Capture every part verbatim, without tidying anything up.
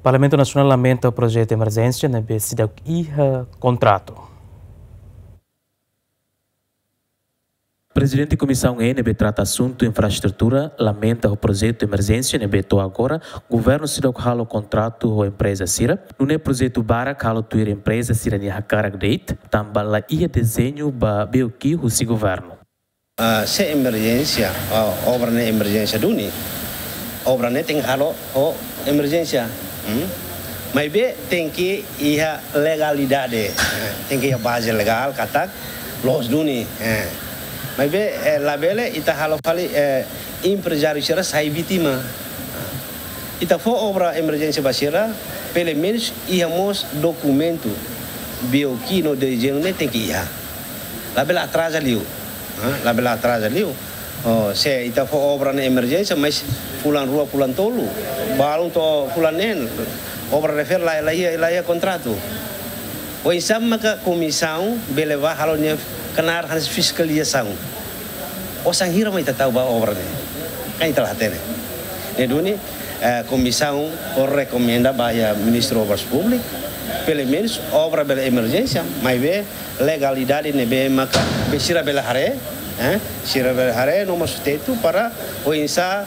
Parlamentu Nasionál lamenta projetu emerjénsia ne'ebé seidauk iha kontratu. Prezidente Komisaun E ne'ebé trata asuntu infraestrutura lamenta ho projetu emerjénsia ne'ebé to'o agora governu seidauk halo kontratu ho empreza sira. Nune'e projetu barak halo tuir empreza sira-nia hakarak de'it, tanba la iha dezeñu ba BOQ husi governu. Ah, se emerjénsia, ah, obra ne'e emerjénsia duni. Obra ne'e tenke halo ho emerjénsia. Hmm? Maibé tenke iha legalidade. Eh, tenke iha baze legál katak loos duni. Eh. Maibé, eh, labele ita halo fali, eh, emprezáriu sira sai vítima. Ita fó obra emerjénsia ba sira, pelumenus iha mós dokumentu. BOQ no dezeñu ne'e tenke iha. Labele atraza liu. Ha? Labele atraza liu. Oh, se ita fó obra ne'e emerjénsia, mas fulan rua, fulan tolu, balun to'o fulan neen, obra refere la, la iha, la iha kontratu. Oinsá maka komisaun bele bá halo nia knaar hanesan fiskalizasaun? Osan hira mak ita tau ba obra ne'e? Kan ita la hatene. Ne'e duni, eh, komisaun rekomenda ba iha Ministru Obras Públikas, pelumenus obra bele emerjénsia, maibé legalidade ne'ebé maka be sira bele haree, eh, sira bele haree no mós tetu para oinsá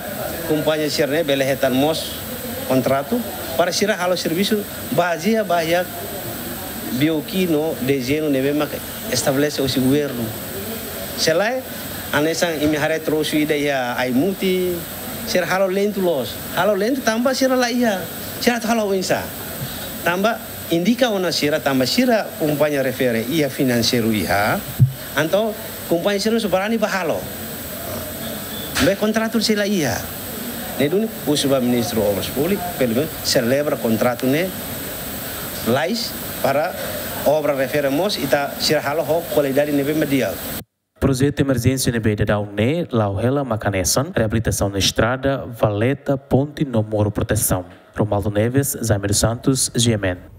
kompañia sira-ne'e bele hetan mós kontratu para sira halo servisu bazeia ba iha BOQ no dezeñu ne'ebé maka estabelese husi governu. Se lae, hanesan imi haree trosu ida iha Aimuti, sira halo lentu loos. Halo lentu tanba sira la iha. Sira atu halo oinsá? Tanba indika ona sira tanba sira kompañia refere iha finanseiru iha. Entaun kompañia sira mós barani bá halo. Be kontratu sei la iha. Ne'e duni husu ba Ministru Obras Públikas, pelumenus selebra kontratu ne'e lalais para obra refere mós ita sira halo ho kualidade ne'ebé mak di'ak. Projetu emerjénsia ne'ebé daudaun ne'e la'o hela mak hanesan reabilitasaun estrada, valeta, ponte no muru protesaun. Romualdo Neves, Jaime dos Santos, GMN.